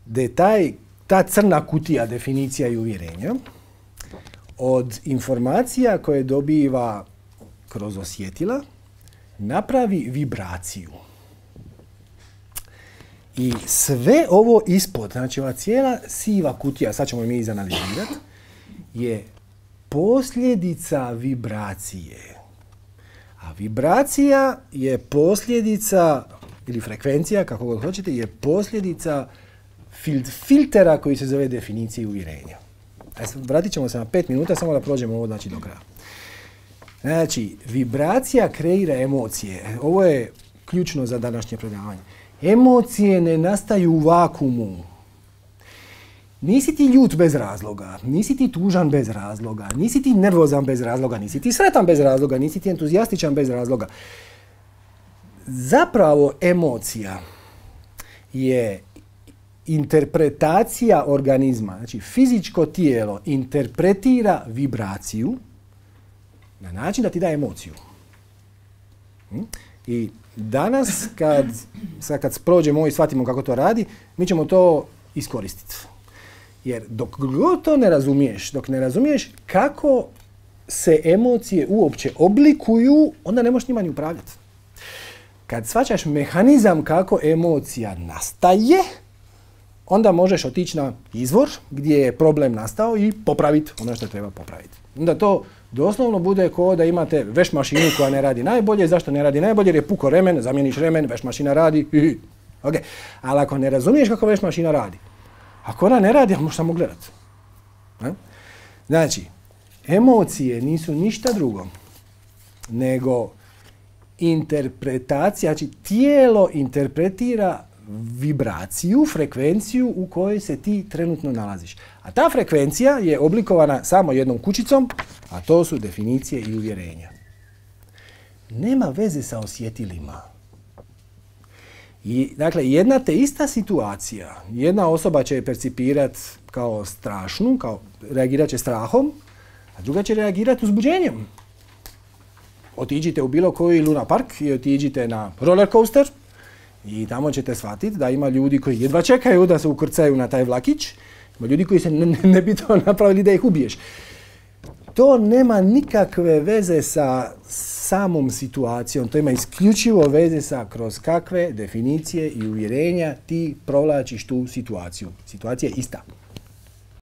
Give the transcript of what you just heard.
da je ta crna kutija definicija i uvjerenja od informacija koje dobiva kroz osjetila napravi vibraciju. I sve ovo ispod, znači ova cijela siva kutija, sad ćemo mi izanalizirati, je posljedica vibracije. A vibracija je posljedica, ili frekvencija, kako god hoćete, je posljedica filtera koji se zove definicija i uvjerenja. Vratit ćemo se na 5 minuta, samo da prođemo ovo znači do kraja. Znači, vibracija kreira emocije. Ovo je ključno za današnje predavanje. Emocije ne nastaju u vakuumu. Nisi ti ljut bez razloga, nisi ti tužan bez razloga, nisi ti nervozan bez razloga, nisi ti sretan bez razloga, nisi ti entuzijastičan bez razloga. Zapravo emocija je interpretacija organizma. Znači, fizičko tijelo interpretira vibraciju na način da ti da emociju. I danas, kad prođemo i shvatimo kako to radi, mi ćemo to iskoristiti. Jer dok god to ne razumiješ, dok ne razumiješ kako se emocije uopće oblikuju, onda ne možeš njima ni upravljati. Kad shvaćaš mehanizam kako emocija nastaje, onda možeš otići na izvor gdje je problem nastao i popraviti ono što treba popraviti. Onda to doslovno bude kao da imate veš mašinu koja ne radi najbolje. Zašto ne radi najbolje? Jer je puko remen, zamijeniš remen, veš mašina radi. Okay. Ali ako ne razumiješ kako veš mašina radi, ako ona ne radi, možeš samo gledati. Znači, emocije nisu ništa drugo nego interpretacija, znači tijelo interpretira vibraciju, frekvenciju u kojoj se ti trenutno nalaziš. A ta frekvencija je oblikovana samo jednom kućicom, a to su definicije i uvjerenja. Nema veze sa osjetilima. I, dakle, jedna te ista situacija, jedna osoba će je percipirati kao strašnu, reagirat će strahom, a druga će reagirati uzbuđenjem. Otiđite u bilo koji Luna Park i otiđite na roller coaster i tamo ćete shvatiti da ima ljudi koji jedva čekaju da se ukrcaju na taj vlakić, ima ljudi koji se ne bi to napravili da ih ubiješ. To nema nikakve veze sa samom situacijom, to ima isključivo veze sa kroz kakve definicije i uvjerenja ti provlačiš tu situaciju. Situacija je ista.